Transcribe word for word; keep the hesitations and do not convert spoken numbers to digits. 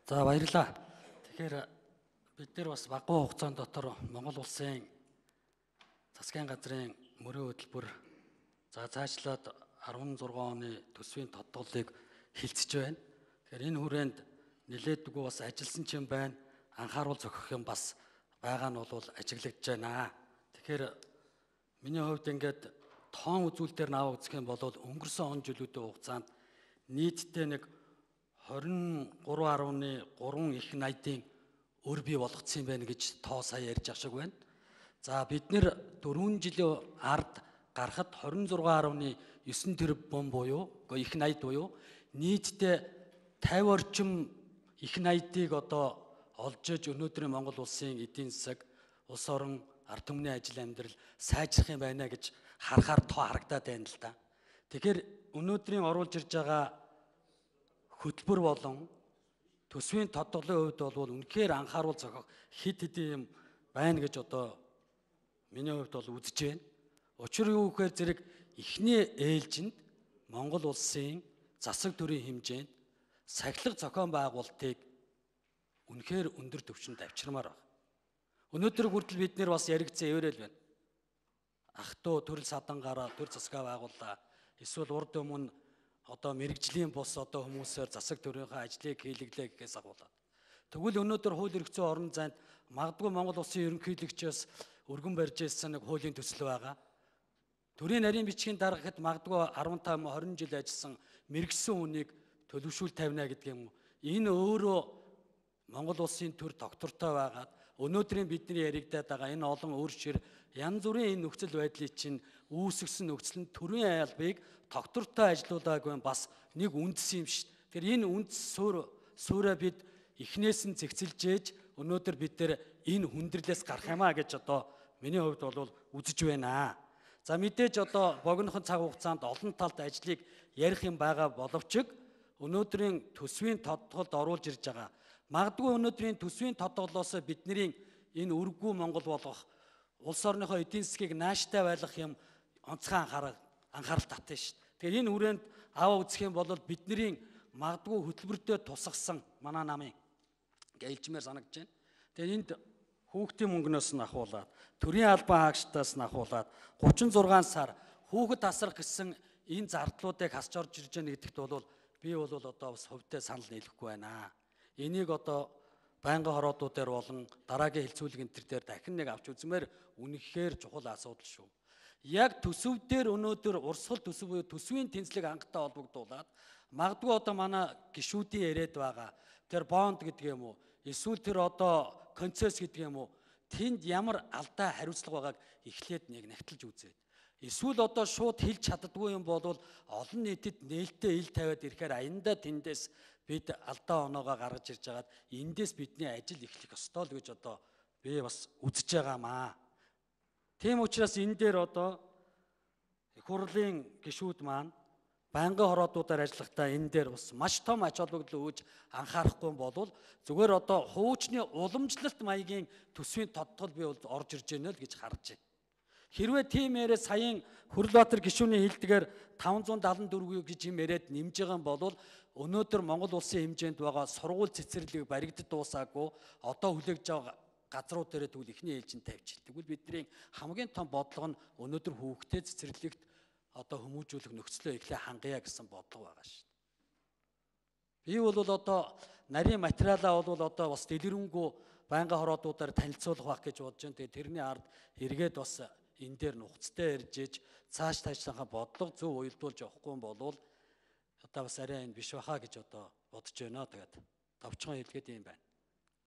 За баярлалаа. Тэгэхээр бид нэр бас багахан хугацаанд дотор Монгол улсын засгийн газрын мөрийн хөтөлбөр за цаашлаад арван зургаан оны төсвийн тодголыг хилцэж байна. Тэгэхээр энэ хүрээнд нэлээдгүй бас ажилласан ч юм байна. Анхааруул зохих юм бас байгаа нь бол ажиглагдж байна. Тэгэхээр миний хувьд ингээд тоон үзүүлэлтээр наваа үзэх юм бол өнгөрсөн он жилүүдийн хугацаанд нийтдээ нэг хорин гурван гаруй гурван их найдын өр бий болгоцсон юм байна гэж тоо сая ярьж ах шиг байна. За бид нэр дөрвөн жилийн ард гарахад хорин зургаан гаруй девять тэрбум буюу их найд буюу нийтдээ пятьдесят орчим их найдыг одоо олж иж өнөөдрийн Монгол улсын эдийн засаг, улс орон, ард түмний ажил амьдрал сайжрах юм байна гэж харахаар тоо харагдаад байна л да. Тэгэхээр өнөөдрийн оруулж ирж байгаа хөтөлбөр болон төсвийн тодголын хувьд бол үнэхээр анхааруул зохих хид хидийн юм байна гэж одоо миний хувьд бол үзэж байна. Учир юу гэхээр зэрэг эхний ээлжинд Монгол улсын засаг төрийн хэмжээнд сахилга зохион байгуулалтыг үнэхээр өндөр түвшинд авчирмаар байна. Өнөөдөр хүртэл бид нэр бас яригдсан эвэрэл байна. Ах トゥ төрөл садангаараа төр засгаа байгууллаа. Эсвэл урд өмнө одоо мэрэгжлийн бус одоо хүмүүсээр засаг төрийнхөө ажлыг хийлгэлээ гэхээс агуулаад. Тэгвэл өнөөдөр хууль эрх зүйн орон зайд магадгүй Монгол улсын ерөнхийлөгчөөс өргөн барьж ирсэн нэг хуулийн төсөл байгаа. Төрийн нарийн бичгийн дарга гэхэд магадгүй15, хорин жил ажилласан мэрэгсэн хүнийг төлөвшүүл тавина гэдэг юм уу. Энэ өөрөө Монгол улсын төр доктортой байгаад өнөөдрийн бидний яригадаад байгаа энэ олон өөр шир янз бүрийн энэ нөхцөл байдлыг чинь үүсгэсэн нөхцөл нь төрийн албыг доктортой ажилуулаагүй бас нэг үндэс юм шүү. Тэр энэ үндэс суур суураа бид эхнээс нь зэгцэлж ээж өнөөдөр бид нэр энэ хүндрэлээс гарах юмаа гэж одоо миний хувьд бол үзэж байна. За мэдээж одоо богинохон цаг хугацаанд олон талт ажлыг ярих юм байгаа боловч өнөөдрийн төсвийн тодголд оруулж ирж байгаа. Магадгүй өнөөдрийн төсвийн тодголоос бидний энэ өрггүй Монгол болгох улс орныхоо эдийн засгийг нааштай байлгах юм онцгой анхаарал анхаарал татсан шүү. Тэгэхээр энэ хүрээнд аваа үзэх юм бол бидний магадгүй хөтөлбөртөө тусгасан манай намын гэлжмээр санагдаж байна. Тэгэхээр энд хүүхдийн мөнгнөөс нь ахуулаад, төрийн албан хаагчдаас нь ахуулаад гучин зургаан сар хүүхэд тасрах гэсэн энэ зардлуудыг хасч орж ирж байгаа гэдэгт бол би бол одоо бас хувьдаа санал нийлэхгүй байна. Энийг одоо байнгын хороодуудаар болон дараагийн хэлцүүлэг энэ төр дээр дахин нэг авч үзмээр үнэхээр чухал асуудал шүү. Яг төсөв дээр өнөөдөр урсгал төсөв буюу төсвийн тэнцлэг хангалттай холбогдуулаад магадгүй одоо манай гишүүдийн яриад байгаа тэр бонд гэдэг юм уу эсвэл тэр одоо концесс гэдэг юм уу тэнд ямар алдаа хариуцлага байгааг эхлээд нэг нягтлж үзээд эсвэл одоо шууд хэлж чаддгүй юм бол олон нийтэд нээлттэй ил тавиад ирэхээр аяндаа тэндээс бид алдаа оноогоо гаргаж ирж хагаад эндээс бидний ажил эхлэх ёстой л гэж одоо би бас үзэж байгаамаа. Тийм учраас энэ дээр одоо их хурлын гишүүд маань байнгын хороодуудаар ажиллахдаа энэ дээр бас маш том ач холбогдол өгж анхаарахгүй бол зүгээр одоо хуучны уламжлалт маягийн төсвийн тодтол би бол орж ирж байна л гэж харж байна. Хэрвээ тийм яриа саяын Хүрлбаатар гишүүний хэлдгээр таван зуун даалан дөрвөн гэж юм яриад нэмж байгаа юм бол өнөөдөр Монгол улсын хэмжээнд байгаа сургууль цэцэрлэг баригдад дуусаагүй одоо хүлээгж байгаа газрууд дээр тэгвэл ихний ээлжинд тавьж. Тэгвэл бидний хамгийн том бодлого нь өнөөдөр хүүхдэд цэцэрлэгт одоо хүмүүжүүлэх нөхцөлөө эхлээ хангая гэсэн бодлого байгаа шүү. Би бол одоо нарийн материалаа бол одоо бас дэлгэрэнгүй байнгын хороодуудаар танилцуулах байх гэж бодож байна. Тэгээ тэрний ард эргээд бас энэ дээр нухацтай ярьж иж цааш таажлахаа бодлого зөв уялдуулж явахгүй юм бол одоо бас арай энэ биш баха гэж одоо бодож байна. Тэгээд товчхон хэлгээд юм байна.